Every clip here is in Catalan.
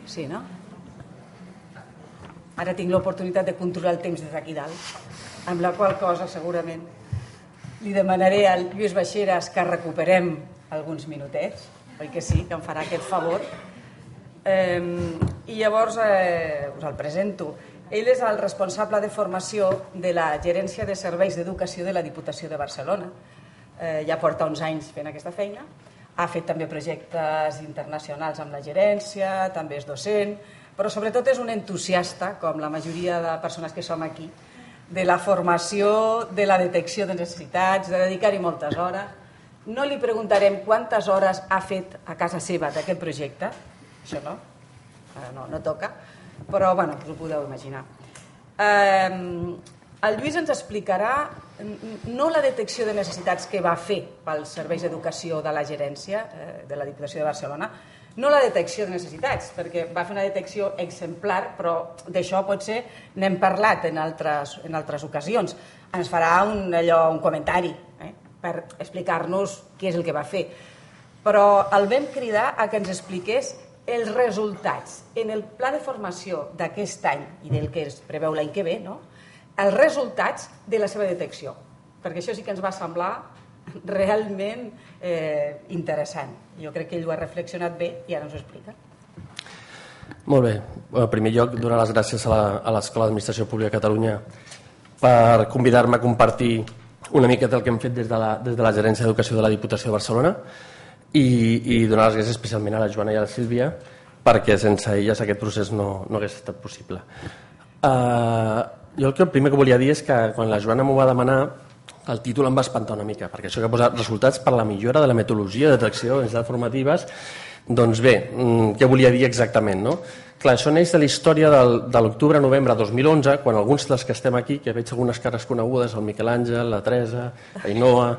Sí, no? Ara tinc l'oportunitat de controlar el temps des d'aquí dalt, amb la qual cosa segurament li demanaré al Lluís Baixeras que recuperem alguns minutets, oi que sí, que em farà aquest favor. I llavors us el presento. Ell és el responsable de formació de la Gerència de Serveis d'Educació de la Diputació de Barcelona. Ja porta uns anys fent aquesta feina. Ha fet també projectes internacionals amb la gerència, també és docent, però sobretot és un entusiasta, com la majoria de persones que som aquí, de la formació, de la detecció de necessitats, de dedicar-hi moltes hores. No li preguntarem quantes hores ha fet a casa seva d'aquest projecte, això no toca, però bueno, us ho podeu imaginar. El Lluís ens explicarà no la detecció de necessitats que va fer pels serveis d'educació de la gerència de la Diputació de Barcelona, no la detecció de necessitats, perquè va fer una detecció exemplar, però d'això potser n'hem parlat en altres ocasions. Ens farà un comentari per explicar-nos què és el que va fer. Però el vam cridar a que ens expliqués els resultats en el pla de formació d'aquest any i del que es preveu l'any que ve, els resultats de la seva detecció, perquè això sí que ens va semblar realment interessant. Jo crec que ell ho ha reflexionat bé i ara ens ho explica. Molt bé. En primer lloc, donar les gràcies a l'Escola d'Administració Pública de Catalunya per convidar-me a compartir una miqueta el que hem fet des de la Gerència d'Educació de la Diputació de Barcelona i donar les gràcies especialment a la Joana i a la Sílvia perquè sense elles aquest procés no hagués estat possible. Jo el primer que volia dir és que quan la Joana m'ho va demanar el títol em va espantar una mica, perquè això que ha posat resultats per la millora de la metodologia de detecció de necessitats formatives, doncs bé, què volia dir exactament, no? Clar, això neix de la història de l'octubre-novembre de 2011, quan alguns dels que estem aquí, que veig algunes cares conegudes, el Miquel Àngel, la Teresa, l'Ainoa,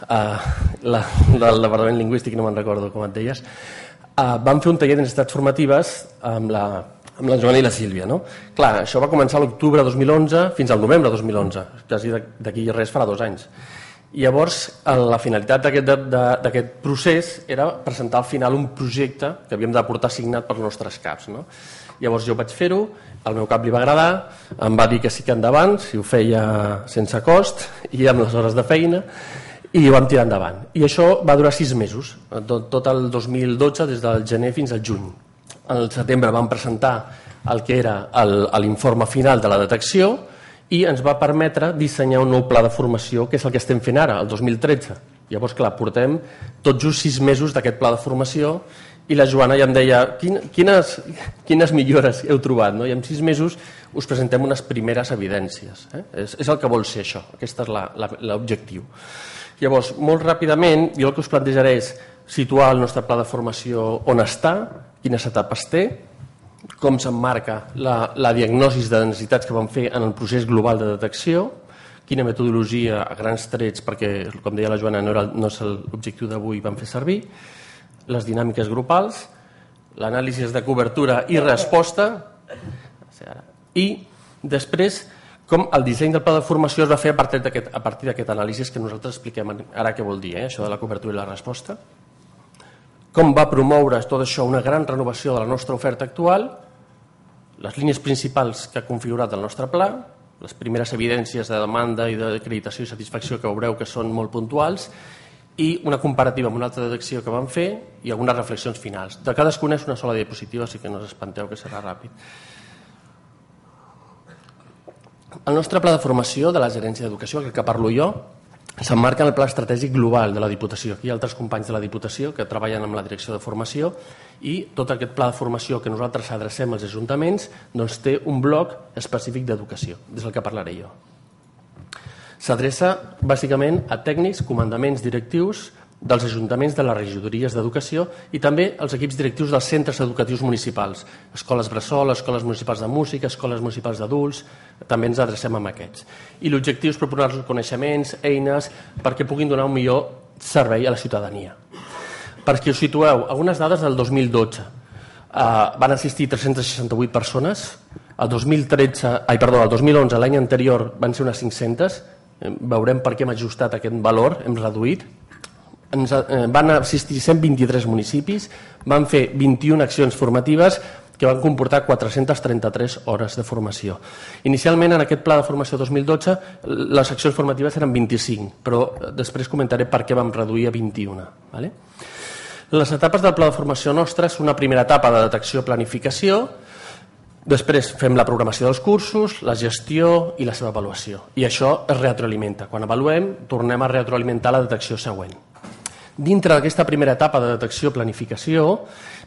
del Departament Lingüístic, no me'n recordo com et deies, vam fer un taller de necessitats formatives amb la Joana i la Sílvia, no? Clar, això va començar a l'octubre de 2011 fins al novembre de 2011, quasi d'aquí res farà 2 anys. I llavors la finalitat d'aquest procés era presentar al final un projecte que havíem de portar signat pels nostres caps, no? Llavors jo vaig fer-ho, al meu cap li va agradar, em va dir que sí que endavant, si ho feia sense cost i amb les hores de feina, i ho vam tirar endavant. I això va durar 6 mesos, tot el 2012, des del gener fins al juny. Al setembre vam presentar el que era l'informe final de la detecció i ens va permetre dissenyar un nou pla de formació, que és el que estem fent ara, el 2013. Llavors, clar, portem tot just 6 mesos d'aquest pla de formació i la Joana ja em deia quines millores heu trobat, no? I en 6 mesos us presentem unes primeres evidències. És el que vol ser això, aquest és l'objectiu. Llavors, molt ràpidament, jo el que us plantejaré és situar el nostre pla de formació on està, quines etapes té, com s'emmarca la diagnosi de necessitats que vam fer en el procés global de detecció, quina metodologia a grans trets, perquè, com deia la Joana, no és l'objectiu d'avui, vam fer servir, les dinàmiques grupals, l'anàlisi de cobertura i resposta, i després com el disseny del pla de formació es va fer a partir d'aquest anàlisi que nosaltres expliquem ara què vol dir, això de la cobertura i la resposta. Com va promoure tot això una gran renovació de la nostra oferta actual, les línies principals que ha configurat el nostre pla, les primeres evidències de demanda i d'acreditació i satisfacció que veureu que són molt puntuals, i una comparativa amb una altra detecció que vam fer i algunes reflexions finals. De cadascuna és una sola diapositiva, així que no us espanteu que serà ràpid. El nostre pla de formació de la Gerència d'Educació, el que parlo jo, s'emmarca en el pla estratègic global de la Diputació. Aquí hi ha altres companys de la Diputació que treballen amb la direcció de formació i tot aquest pla de formació que nosaltres adrecem als ajuntaments doncs té un bloc específic d'educació, des del que parlaré jo. S'adreça bàsicament a tècnics, comandaments directius dels ajuntaments de les regidories d'educació i també els equips directius dels centres educatius municipals, escoles bressol, escoles municipals de música, escoles municipals d'adults, també ens adrecem a aquests. I l'objectiu és proporcionar-los coneixements, eines, perquè puguin donar un millor servei a la ciutadania. Perquè us situeu, algunes dades del 2012. Van assistir 368 persones, el 2011, l'any anterior, van ser unes 500, veurem per què hem ajustat aquest valor, hem reduït. van assistir 123 municipis, van fer 21 accions formatives que van comportar 433 hores de formació. Inicialment, en aquest pla de formació 2012, les accions formatives eren 25, però després comentaré per què vam reduir a 21. Les etapes del pla de formació nostre és una primera etapa de detecció i planificació, després fem la programació dels cursos, la gestió i la seva avaluació. I això es retroalimenta. Quan avaluem, tornem a retroalimentar la detecció següent. Dintre d'aquesta primera etapa de detecció i planificació,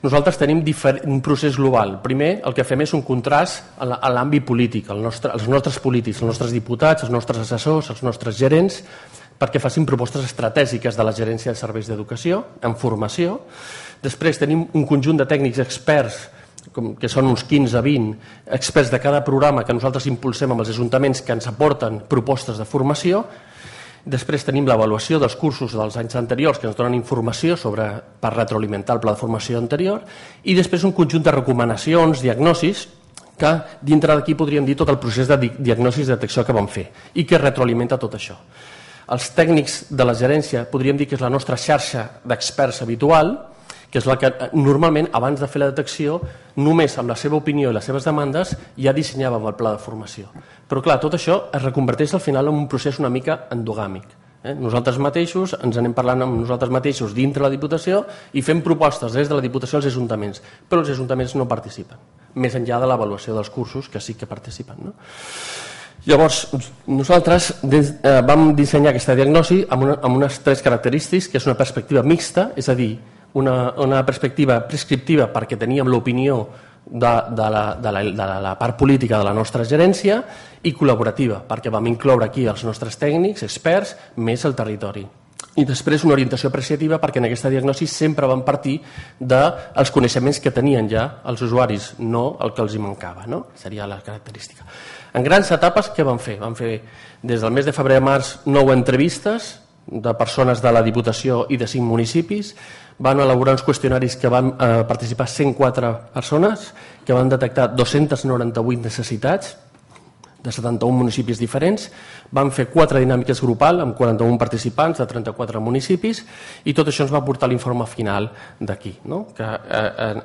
nosaltres tenim un procés global. Primer, el que fem és un contrast a l'àmbit polític, els nostres polítics, els nostres diputats, els nostres assessors, els nostres gerents, perquè facin propostes estratègiques de la gerència de serveis d'educació, en formació. Després tenim un conjunt de tècnics experts, que són uns 15-20 experts de cada programa que nosaltres impulsem amb els ajuntaments que ens aporten propostes de formació. Després tenim l'avaluació dels cursos dels anys anteriors que ens donen informació per retroalimentar el pla de formació anterior i després un conjunt de recomanacions, diagnosis, que dintre d'aquí podríem dir tot el procés de diagnosis i detecció que vam fer i que retroalimenta tot això. Els tècnics de la gerència podríem dir que és la nostra xarxa d'experts habitual, que és la que normalment, abans de fer la detecció, només amb la seva opinió i les seves demandes ja dissenyàvem el pla de formació. Però clar, tot això es reconverteix al final en un procés una mica endogàmic. Nosaltres mateixos ens anem parlant amb nosaltres mateixos dintre la Diputació i fem propostes des de la Diputació als ajuntaments, però els ajuntaments no participen, més enllà de l'avaluació dels cursos, que sí que participen. Llavors, nosaltres vam dissenyar aquesta diagnosi amb unes 3 característiques, que és una perspectiva mixta, és a dir, una perspectiva prescriptiva perquè teníem l'opinió de la part política de la nostra gerència i col·laborativa perquè vam incloure aquí els nostres tècnics, experts, més el territori. I després una orientació apreciativa perquè en aquesta diagnosi sempre vam partir dels coneixements que tenien ja els usuaris, no el que els hi mancava, no? Seria la característica. En grans etapes, què vam fer? Vam fer des del mes de febrer a març 9 entrevistes de persones de la Diputació i de 5 municipis. Van elaborar uns qüestionaris que van participar 104 persones, que van detectar 298 necessitats de 71 municipis diferents. Van fer 4 dinàmiques grupals amb 41 participants de 34 municipis i tot això ens va portar l'informe final d'aquí, que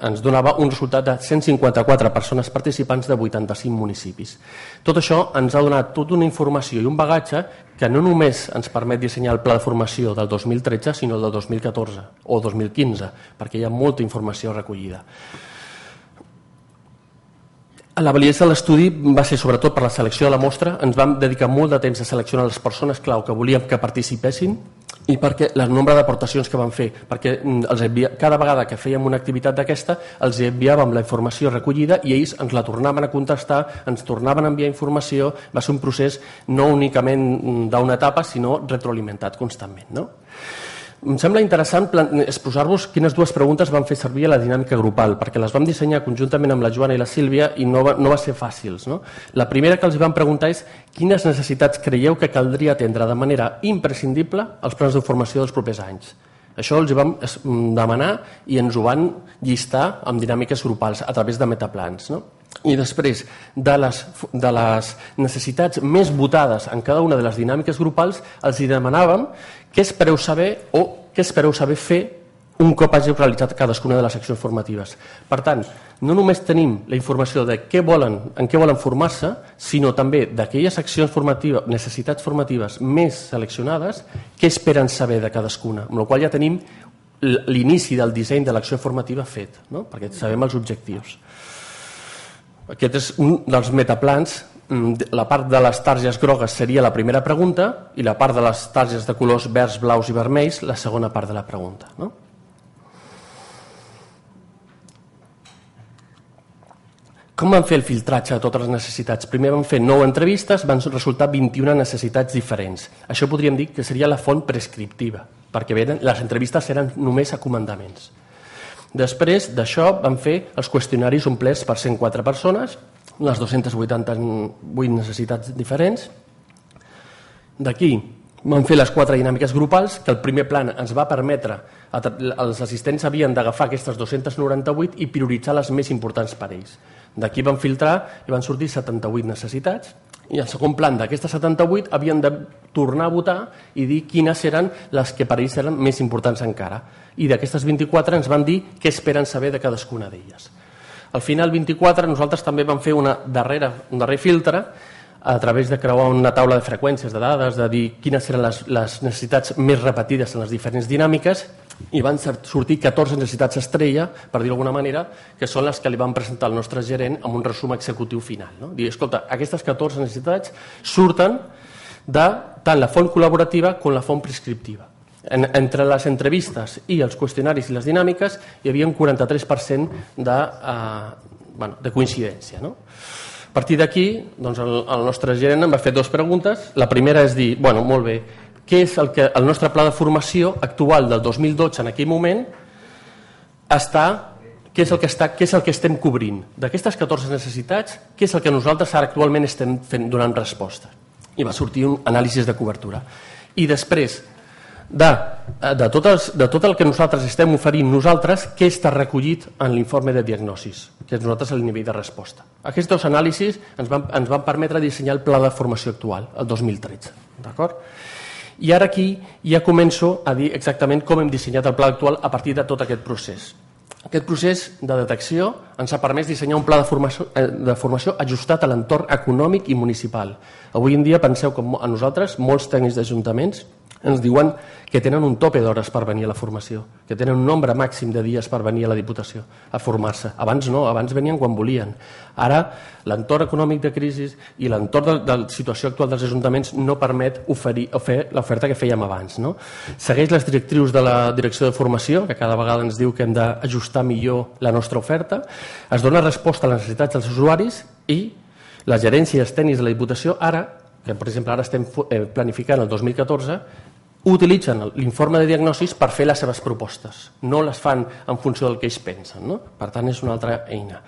ens donava un resultat de 154 persones participants de 85 municipis. Tot això ens ha donat tota una informació i un bagatge que no només ens permet dissenyar el pla de formació del 2013, sinó el del 2014 o 2015, perquè hi ha molta informació recollida. La validesa de l'estudi va ser sobretot per la selecció de la mostra. Ens vam dedicar molt de temps a seleccionar les persones clau que volíem que participessin i perquè el nombre d'aportacions que van fer, perquè cada vegada que fèiem una activitat d'aquesta els enviàvem la informació recollida i ells ens la tornaven a contestar, ens tornaven a enviar informació. Va ser un procés no únicament d'una etapa, sinó retroalimentat constantment. Em sembla interessant exposar-vos quines 2 preguntes van fer servir a la dinàmica grupal, perquè les vam dissenyar conjuntament amb la Joana i la Sílvia i no va ser fàcil. La primera que els vam preguntar és quines necessitats creieu que caldria atendre de manera imprescindible als plans de formació dels propers anys. Això els vam demanar i ens ho van llistar amb dinàmiques grupals a través de metaplans. I després, de les necessitats més votades en cada una de les dinàmiques grupals, els demanàvem què espereu saber o què espereu saber fer un cop hagi realitzat cadascuna de les accions formatives. Per tant, no només tenim la informació de en què volen formar-se, sinó també d'aquelles accions formatives, necessitats formatives més seleccionades, què esperen saber de cadascuna, amb la qual ja tenim l'inici del disseny de l'acció formativa fet, perquè sabem els objectius. Aquest és un dels metaplans. La part de les targes grogues seria la primera pregunta i la part de les targes de colors verds, blaus i vermells la segona part de la pregunta. Com vam fer el filtratge de totes les necessitats? Primer vam fer 9 entrevistes, van resultar 21 necessitats diferents. Això podríem dir que seria la font prescriptiva, perquè les entrevistes eren només a comandaments. Després d'això vam fer els qüestionaris omplerts per 104 persones, les 288 necessitats diferents. D'aquí vam fer les 4 dinàmiques grupals, que el primer plan ens va permetre, els assistents havien d'agafar aquestes 298 i prioritzar les més importants per ells. D'aquí vam filtrar i van sortir 78 necessitats I el segon plan d'aquestes 78 havien de tornar a votar i dir quines eren les que per ells eren més importants encara. I d'aquestes 24 ens van dir què esperen saber de cadascuna d'elles. Al final, 24, nosaltres també vam fer un darrer filtre a través de creuar una taula de freqüències de dades, de dir quines eren les necessitats més repetides en les diferents dinàmiques, i van sortir 14 necessitats estrella, per dir d'alguna manera, que són les que li van presentar al nostre gerent amb un resum executiu final. No? Dir, escolta, aquestes 14 necessitats surten de tant la font col·laborativa com la font prescriptiva. Entre les entrevistes i els qüestionaris i les dinàmiques hi havia un 43% de coincidència. No? A partir d'aquí, doncs el nostre gerent em va fer 2 preguntes. La primera és dir, bueno, molt bé, què és el nostre pla de formació actual del 2012 en aquell moment què és el que estem cobrint? D'aquestes 14 necessitats, què és el que nosaltres ara actualment estem donant resposta? I va sortir un anàlisi de cobertura. I després de tot el que nosaltres estem oferint nosaltres, què està recollit en l'informe de diagnosis, que és nosaltres el nivell de resposta. Aquests 2 anàlisis ens van permetre dissenyar el pla de formació actual, el 2013. D'acord? I ara aquí ja començo a dir exactament com hem dissenyat el pla actual a partir de tot aquest procés. Aquest procés de detecció ens ha permès dissenyar un pla de formació ajustat a l'entorn econòmic i municipal. Avui en dia penseu que a nosaltres, molts tècnics d'ajuntaments, ens diuen que tenen un tope d'hores per venir a la formació, que tenen un nombre màxim de dies per venir a la Diputació a formar-se. Abans no, abans venien quan volien. Ara, l'entorn econòmic de crisi i l'entorn de la situació actual dels ajuntaments no permet fer l'oferta que fèiem abans. No? Segueix les directrius de la Direcció de Formació, que cada vegada ens diu que hem d'ajustar millor la nostra oferta, es dona resposta a les necessitats dels usuaris i la gerència i els tècnics de la Diputació ara, que per exemple ara estem planificant el 2014, utilitzen l'informe de diagnosis per fer les seves propostes. No les fan en funció del que ells pensen. No? Per tant, és una altra eina.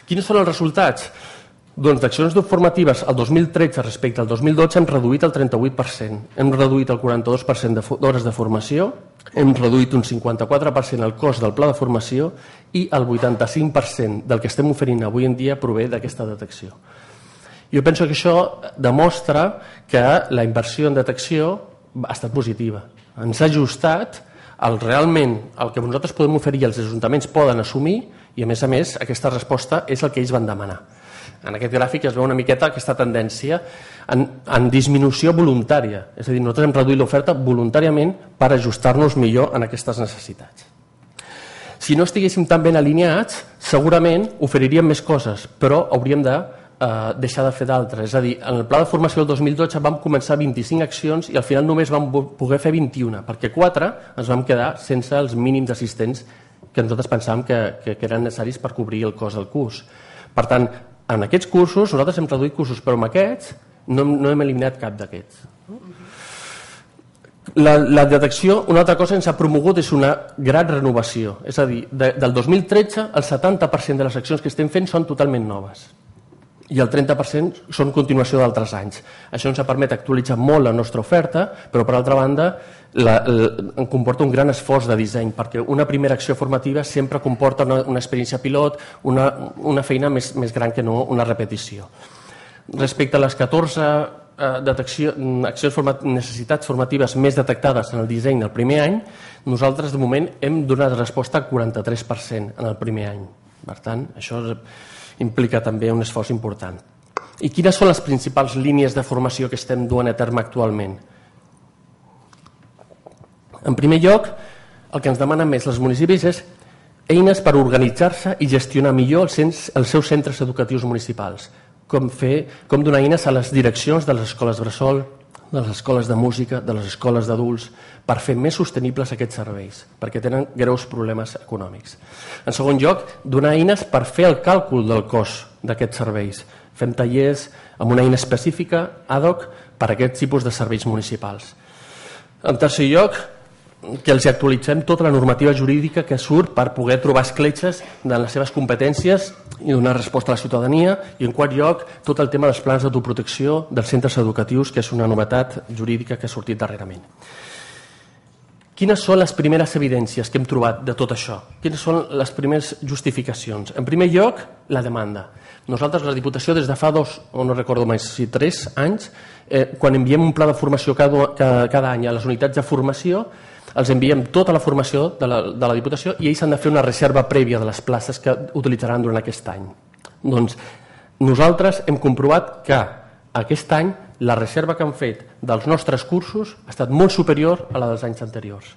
Quins són els resultats? Doncs d'accions formatives el 2013 respecte al 2012 hem reduït el 38%, hem reduït el 42% d'hores de formació, hem reduït un 54% el cost del pla de formació i el 85% del que estem oferint avui en dia prové d'aquesta detecció. Jo penso que això demostra que la inversió en detecció ha estat positiva. Ens ha ajustat realment el que nosaltres podem oferir i els ajuntaments poden assumir i a més aquesta resposta és el que ells van demanar. En aquest gràfic es veu una miqueta aquesta tendència en disminució voluntària. És a dir, nosaltres hem reduït l'oferta voluntàriament per ajustar-nos millor en aquestes necessitats. Si no estiguéssim tan ben alineats, segurament oferiríem més coses, però hauríem de deixar de fer d'altres. És a dir, en el pla de formació del 2012 vam començar 25 accions i al final només vam poder fer 21, perquè 4 ens vam quedar sense els mínims assistents que nosaltres pensàvem que eren necessaris per cobrir el cost del curs. Per tant, en aquests cursos, nosaltres hem reduït cursos, però amb aquests no hem eliminat cap d'aquests. La detecció, una altra cosa que ens ha promogut és una gran renovació. És a dir, del 2013, el 70% de les accions que estem fent són totalment noves i el 30% són continuació d'altres anys. Això ens ha permès actualitzar molt la nostra oferta, però per altra banda comporta un gran esforç de disseny, perquè una primera acció formativa sempre comporta una experiència pilot, una feina més gran que no una repetició. Respecte a les 14 necessitats formatives més detectades en el disseny del primer any, nosaltres de moment hem donat resposta al 43% en el primer any. Per tant, això implica també un esforç important. I quines són les principals línies de formació que estem duent a terme actualment? En primer lloc, el que ens demanen més els municipis és eines per organitzar-se i gestionar millor els seus centres educatius municipals, com donar eines a les direccions de les escoles bressol, de les escoles de música, de les escoles d'adults, per fer més sostenibles aquests serveis, perquè tenen greus problemes econòmics. En segon lloc, donar eines per fer el càlcul del cost d'aquests serveis. Fem tallers amb una eina específica, ad hoc, per a aquests tipus de serveis municipals. En tercer lloc, que els actualitzem tota la normativa jurídica que surt per poder trobar escletxes de les seves competències i donar resposta a la ciutadania, i en quart lloc tot el tema dels plans d'autoprotecció dels centres educatius, que és una novetat jurídica que ha sortit darrerament. Quines són les primeres evidències que hem trobat de tot això? Quines són les primeres justificacions? En primer lloc, la demanda. Nosaltres, la Diputació, des de fa 2, o no recordo més, si 3 anys, quan enviem un pla de formació cada any a les unitats de formació, els enviem tota la formació de la Diputació i ells han de fer una reserva prèvia de les places que utilitzaran durant aquest any. Doncs nosaltres hem comprovat que aquest any la reserva que han fet dels nostres cursos ha estat molt superior a la dels anys anteriors.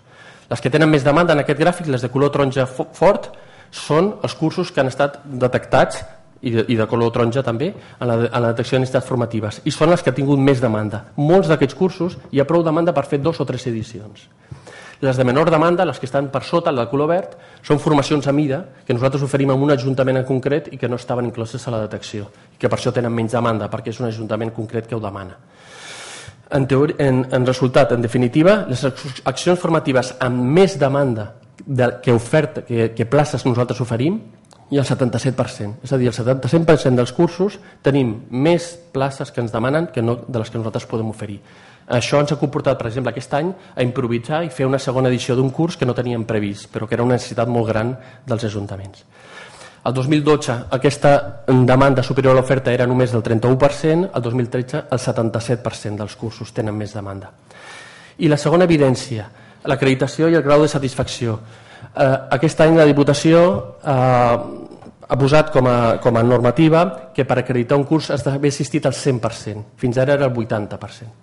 Les que tenen més demanda en aquest gràfic, les de color taronja fort, són els cursos que han estat detectats, i de color taronja també, en la detecció de necessitats formatives, i són les que han tingut més demanda. Molts d'aquests cursos hi ha prou demanda per fer 2 o 3 edicions. Les de menor demanda, les que estan per sota, la de color verd, són formacions a mida que nosaltres oferim en un ajuntament en concret i que no estaven incloses a la detecció, i que per això tenen menys demanda, perquè és un ajuntament concret que ho demana. En resultat, en definitiva, les accions formatives amb més demanda que places nosaltres oferim hi ha el 77%. És a dir, el 77% dels cursos tenim més places que ens demanen que no de les que nosaltres podem oferir. Això ens ha comportat, per exemple, aquest any a improvisar i fer una segona edició d'un curs que no teníem previst, però que era una necessitat molt gran dels ajuntaments. El 2012 aquesta demanda superior a l'oferta era només del 31%, el 2013 el 77% dels cursos tenen més demanda. I la segona evidència, l'acreditació i el grau de satisfacció. Aquest any la Diputació ha posat com a normativa que per acreditar un curs has d'haver assistit al 100%, fins ara era el 80%.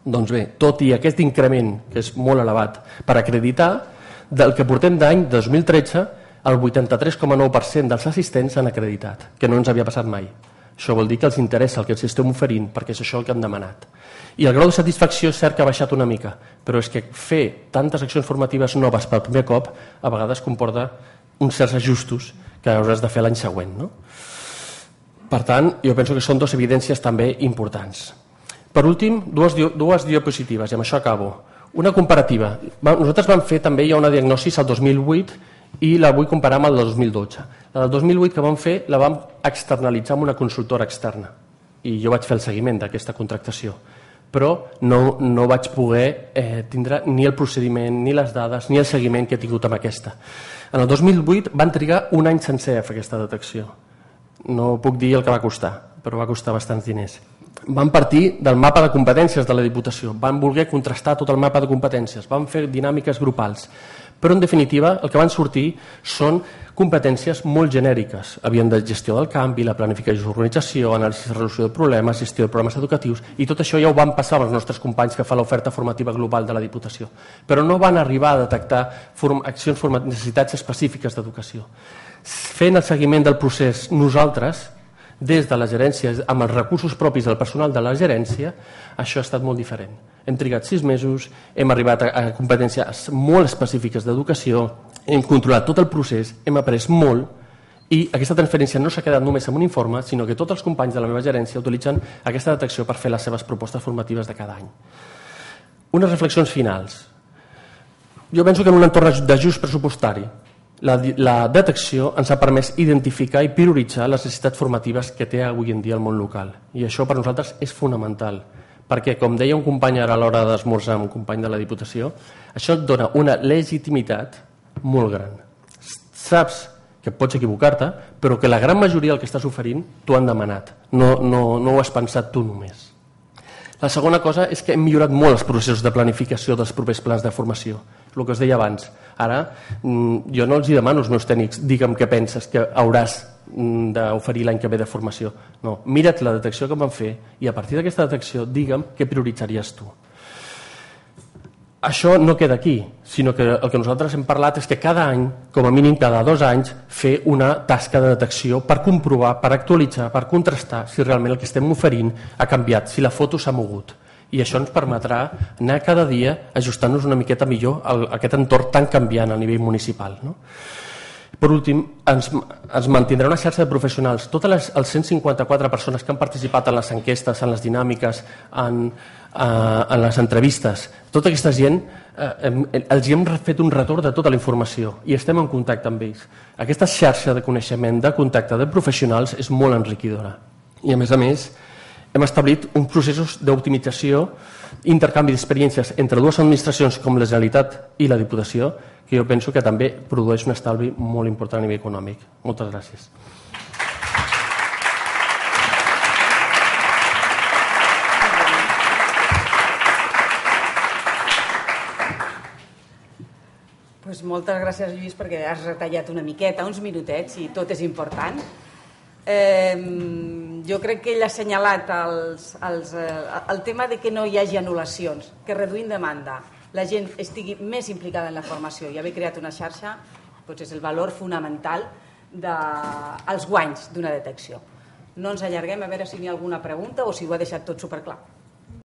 Doncs bé, tot i aquest increment, que és molt elevat, per acreditar, del que portem d'any 2013, el 83,9% dels assistents s'han acreditat, que no ens havia passat mai. Això vol dir que els interessa el que els estem oferint, perquè és això el que han demanat. I el grau de satisfacció és cert que ha baixat una mica, però és que fer tantes accions formatives noves per primer cop a vegades comporta uns certs ajustos que hauràs de fer l'any següent. No? Per tant, jo penso que són 2 evidències també importants. Per últim, dues diapositives, i amb això acabo. Una comparativa. Nosaltres vam fer també ja una diagnosi al 2008 i la vull comparar amb el del 2012. La del 2008 que vam fer la vam externalitzar amb una consultora externa i jo vaig fer el seguiment d'aquesta contractació, però no vaig poder tindre ni el procediment, ni les dades, ni el seguiment que he tingut amb aquesta. En el 2008 van trigar un any sencer a fer aquesta detecció. No puc dir el que va costar, però va costar bastants diners. Van partir del mapa de competències de la Diputació, van voler contrastar tot el mapa de competències, van fer dinàmiques grupals, però en definitiva el que van sortir són competències molt genèriques. Havien de gestió del canvi, la planificació d'organització, anàlisi de resolució de problemes, gestió de programes educatius, i tot això ja ho van passar als nostres companys que fa l'oferta formativa global de la Diputació. Però no van arribar a detectar necessitats específiques d'educació. Fent el seguiment del procés nosaltres, des de la gerència, amb els recursos propis del personal de la gerència, això ha estat molt diferent. Hem trigat 6 mesos, hem arribat a competències molt específiques d'educació, hem controlat tot el procés, hem après molt, i aquesta transferència no s'ha quedat només en un informe, sinó que tots els companys de la meva gerència utilitzen aquesta detecció per fer les seves propostes formatives de cada any. Unes reflexions finals. Jo penso que en un entorn d'ajust pressupostari, la detecció ens ha permès identificar i prioritzar les necessitats formatives que té avui en dia el món local. I això per nosaltres és fonamental, perquè, com deia un company ara a l'hora d'esmorzar, un company de la Diputació, això et dona una legitimitat molt gran. Saps que pots equivocar-te, però que la gran majoria del que estàs oferint t'ho han demanat. No ho has pensat tu només. La segona cosa és que hem millorat molt els processos de planificació dels propers plans de formació. El que us deia abans. Ara, jo no els demano als meus tècnics, digue'm què penses que hauràs d'oferir l'any que ve de formació. No, mira't la detecció que vam fer i a partir d'aquesta detecció digue'm què prioritzaries tu. Això no queda aquí, sinó que el que nosaltres hem parlat és que cada any, com a mínim cada 2 anys, fer una tasca de detecció per comprovar, per actualitzar, per contrastar si realment el que estem oferint ha canviat, si la foto s'ha mogut. I això ens permetrà anar cada dia ajustant-nos una miqueta millor a aquest entorn tan canviant a nivell municipal. No? Per últim, ens mantindrà una xarxa de professionals. Totes les 154 persones que han participat en les enquestes, en les dinàmiques, en les entrevistes, tota aquesta gent, els hem fet un retorn de tota la informació i estem en contacte amb ells. Aquesta xarxa de coneixement, de contacte de professionals és molt enriquidora. I a més, hem establit uns processos d'optimització, intercanvi d'experiències entre dues administracions com la Generalitat i la Diputació, que jo penso que també produeix un estalvi molt important a nivell econòmic. Moltes gràcies. Moltes gràcies, Lluís, perquè has retallat una miqueta, uns minutets, i tot és important. Jo crec que ell ha assenyalat el tema de que no hi hagi anul·lacions, que reduint demanda la gent estigui més implicada en la formació i haver creat una xarxa és el valor fonamental dels guanys d'una detecció. No ens allarguem, a veure si n'hi ha alguna pregunta o si ho ha deixat tot superclar.